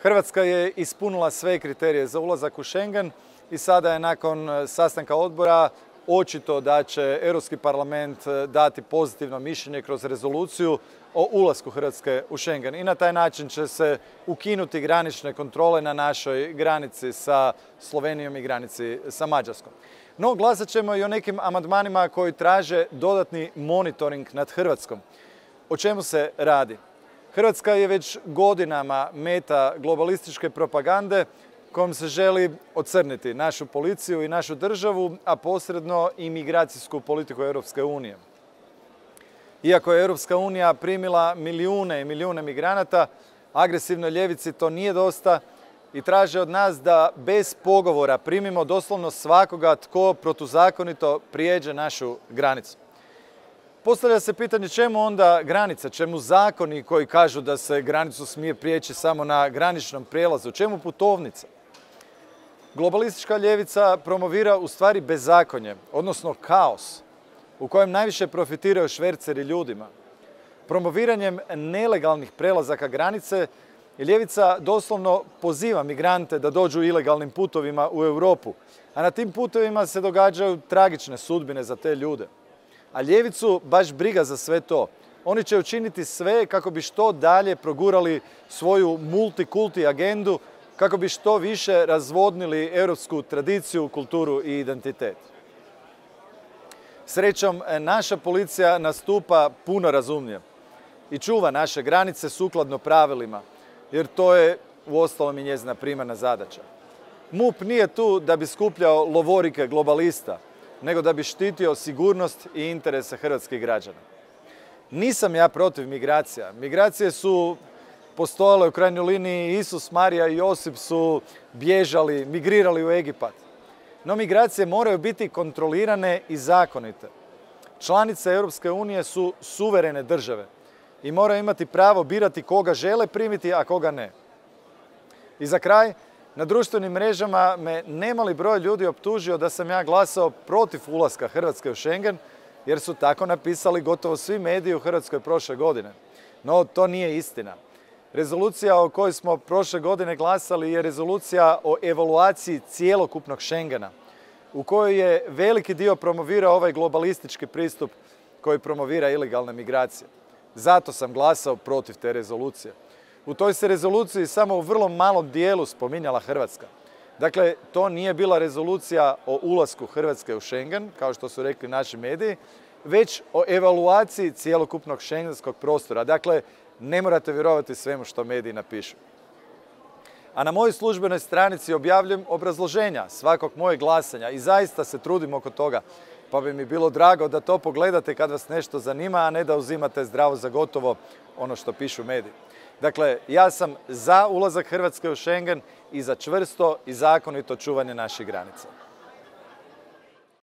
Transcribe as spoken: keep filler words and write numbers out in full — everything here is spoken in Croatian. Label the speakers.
Speaker 1: Hrvatska je ispunila sve kriterije za ulazak u Schengen i sada je nakon sastanka odbora očito da će Europski parlament dati pozitivno mišljenje kroz rezoluciju o ulasku Hrvatske u Schengen. I na taj način će se ukinuti granične kontrole na našoj granici sa Slovenijom i granici sa Mađarskom. No, glasat ćemo i o nekim amandmanima koji traže dodatni monitoring nad Hrvatskom. O čemu se radi? Hrvatska je već godinama meta globalističke propagande kojom se želi ocrniti našu policiju i našu državu, a posredno i migracijsku politiku Europske unije. Iako je Europska unija primila milijune i milijune migranata, agresivnoj ljevici to nije dosta i traže od nas da bez pogovora primimo doslovno svakoga tko protuzakonito prijeđe našu granicu. Postavlja se pitanje čemu onda granica, čemu zakoni koji kažu da se granicu smije prijeći samo na graničnom prijelazu, čemu putovnica? Globalistička ljevica promovira u stvari bezakonje, odnosno kaos, u kojem najviše profitiraju šverceri ljudima. Promoviranjem nelegalnih prelazaka granice, ljevica doslovno poziva migrante da dođu ilegalnim putovima u Europu, a na tim putovima se događaju tragične sudbine za te ljude. A ljevicu baš briga za sve to. Oni će učiniti sve kako bi što dalje progurali svoju multikulti agendu, kako bi što više razvodnili europsku tradiciju, kulturu i identitet. Srećom, naša policija nastupa puno razumnije i čuva naše granice sukladno pravilima, jer to je uostalom i njezina primarna zadaća. MUP nije tu da bi skupljao lovorike globalista, nego da bi štitio sigurnost i interese hrvatskih građana. Nisam ja protiv migracija. Migracije su postojale u krajnjoj liniji, Isus, Marija i Josip su bježali, migrirali u Egipat. No migracije moraju biti kontrolirane i zakonite. Članice Europske unije su suverene države i moraju imati pravo birati koga žele primiti, a koga ne. I za kraj, na društvenim mrežama me nemali broj ljudi optužio da sam ja glasao protiv ulaska Hrvatske u Schengen, jer su tako napisali gotovo svi mediji u Hrvatskoj prošle godine. No, to nije istina. Rezolucija o kojoj smo prošle godine glasali je rezolucija o evaluaciji cijelokupnog Schengena, u kojoj je veliki dio promovirao ovaj globalistički pristup koji promovira ilegalne migracije. Zato sam glasao protiv te rezolucije. U toj se rezoluciji samo u vrlo malom dijelu spominjala Hrvatska. Dakle, to nije bila rezolucija o ulasku Hrvatske u Schengen, kao što su rekli naši mediji, već o evaluaciji cijelokupnog šengenskog prostora. Dakle, ne morate vjerovati svemu što mediji napišu. A na mojoj službenoj stranici objavljujem obrazloženja svakog mojeg glasanja i zaista se trudim oko toga, pa bi mi bilo drago da to pogledate kad vas nešto zanima, a ne da uzimate zdravo za gotovo ono što pišu mediji. Dakle, ja sam za ulazak Hrvatske u Schengen i za čvrsto i zakonito čuvanje naših granica.